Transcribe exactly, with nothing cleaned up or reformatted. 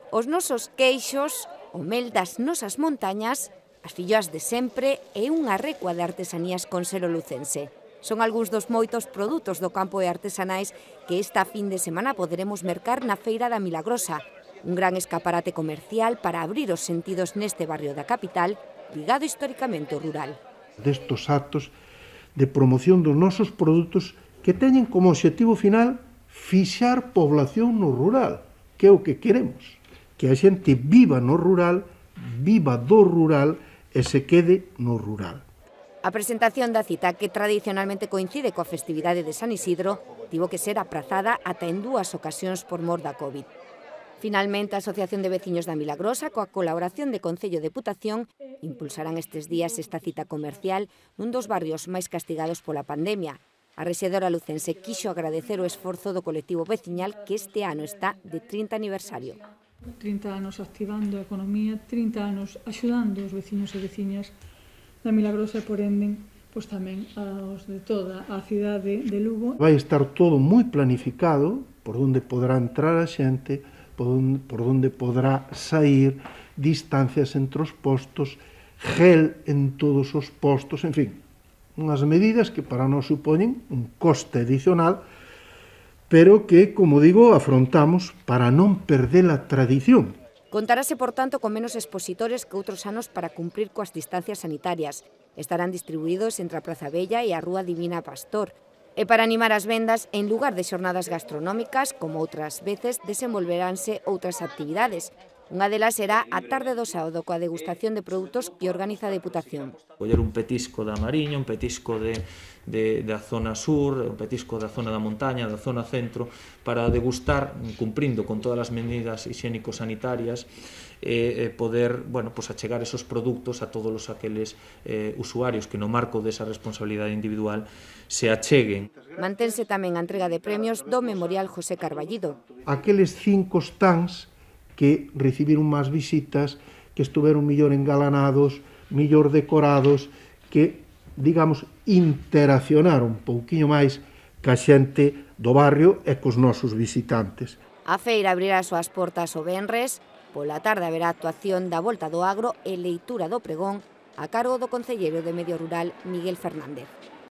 Os nosos queixos, o mel das nosas montañas, as filloas de sempre e unha recua de artesanías con selo lucense. Son algúns dos moitos produtos do campo e artesanais que esta fin de semana poderemos mercar na Feira da Milagrosa, un gran escaparate comercial para abrir os sentidos neste barrio da capital, ligado históricamente ao rural. Destos actos de promoción dos nosos produtos que teñen como obxectivo final fixar población no rural, que é o que queremos, que a xente viva no rural, viva do rural e se quede no rural. A presentación da cita, que tradicionalmente coincide coa festividade de San Isidro, tivo que ser aprazada ata en dúas ocasións por mor da COVID. Finalmente, a Asociación de Veciños da Milagrosa, coa colaboración de Concello e Deputación, impulsarán estes días esta cita comercial nun dos barrios máis castigados pola pandemia. A rexedora lucense quixo agradecer o esforzo do colectivo veciñal que este ano está de trinta aniversario. trinta anos activando a economía, trinta anos axudando os veciños e veciñas da Milagrosa e por ende, pois tamén aos de toda a cidade de Lugo. Vai estar todo moi planificado por onde poderá entrar a xente, por onde, por onde poderá sair, distancias entre os postos, gel en todos os postos, en fin, unhas medidas que para nós supoñen un coste adicional, pero que, como digo, afrontamos para non perder a tradición. Contarase, por tanto, con menos expositores que outros anos para cumprir coas distancias sanitarias. Estarán distribuídos entre a Praza Bella e a Rúa Divina Pastor. E para animar as vendas, en lugar de xornadas gastronómicas, como outras veces, desenvolveránse outras actividades. Unha delas será a tarde do sábado coa degustación de produtos que organiza a Deputación. Coller un petisco da Mariña, un petisco de, de, da zona sur, un petisco da zona da montaña, da zona centro, para degustar, cumprindo con todas as medidas higiénico-sanitarias, e eh, poder, bueno, pues achegar esos produtos a todos os aqueles eh, usuarios que no marco desa responsabilidade individual se acheguen. Mantense tamén a entrega de premios do Memorial José Carballido. Aqueles cinco stands que recibiron máis visitas, que estuveron millor engalanados, millor decorados, que, digamos, interaccionaron un pouquiño máis ca xente do barrio e cos nosos visitantes. A feira abrirá as súas portas o venres, pola tarde haberá actuación da Volta do Agro e leitura do pregón a cargo do concelleiro de Medio Rural, Miguel Fernández.